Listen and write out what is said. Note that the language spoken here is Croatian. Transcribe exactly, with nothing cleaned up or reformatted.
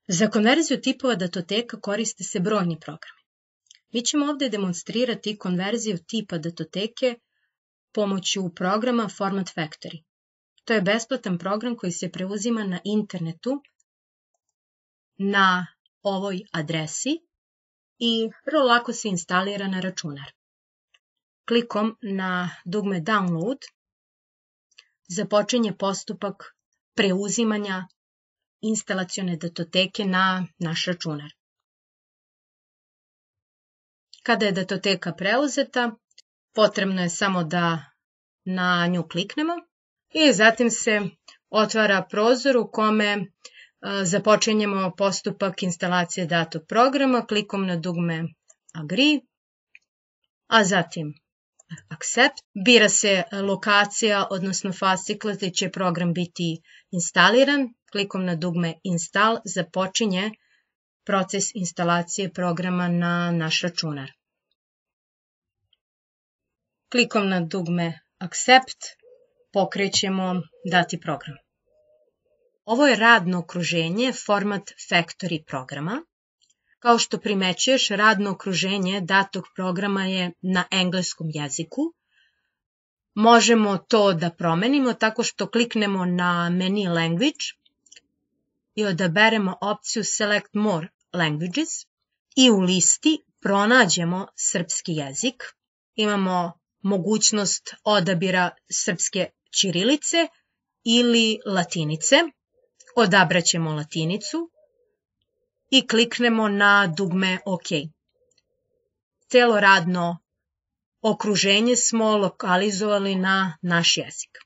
Za konverziju tipova datoteka koriste se brojni programi. Mi ćemo ovdje demonstrirati konverziju tipa datoteke pomoću programa Format Factory. To je besplatan program koji se preuzima na internetu na ovoj adresi i vrlo lako se instalira na računar. Klikom na dugme Download započinje postupak preuzimanja instalacione datoteke na naš računar. Kada je datoteka preuzeta, potrebno je samo da na nju kliknemo i zatim se otvara prozor u kome započinjemo postupak instalacije datog programa klikom na dugme Agree, a zatim Accept. Bira se lokacija, odnosno fascikla gde će program biti instaliran. Klikom na dugme Install započinje proces instalacije programa na naš računar. Klikom na dugme Accept pokrećemo dati program. Ovo je radno okruženje Format Factory programa. Kao što primećuješ, radno okruženje datog programa je na engleskom jeziku. Možemo to da promenimo tako što kliknemo na menu Language i odaberemo opciju Select More Languages i u listi pronađemo srpski jezik. Imamo mogućnost odabira srpske ćirilice ili latinice. Odabraćemo latinicu i kliknemo na dugme OK. Celo radno okruženje smo lokalizovali na naš jezik.